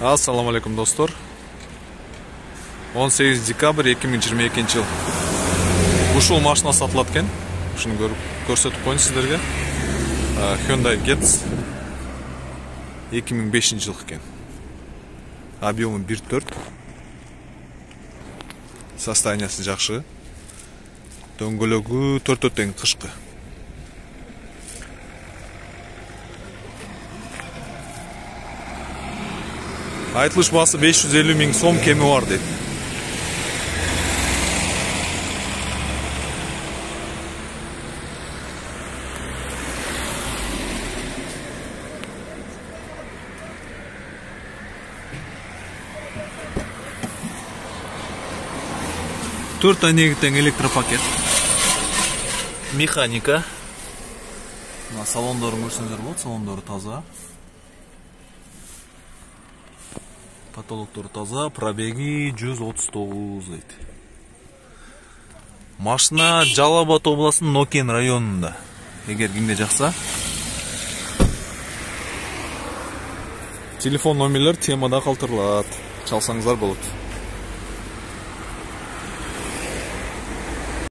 Assalamu alaikum dostlar. 18 dekabr 2022 yıl. Ушул машина сатылат экен. Ушуну көрсөтүп коеюн сиздерге. Hyundai Getz 2005 жыл экен. Объему 1.4. Состояниясы жакшы. Дөңгөлөгү 4 тең кышкы. Айтылыш баасы 550 миң сом, кеми бар дейт. Төрт айнеги тең электропакет. Механика. Салондорун көрсөңүздөр болот, салондору таза. Потолоктор таза, пробеги 139 дейт. Машина Жалал Абад областынын Нокен районунда. Эгер кимге жакса, телефон номерлер темада калтырылат. Чалсаңыздар болот.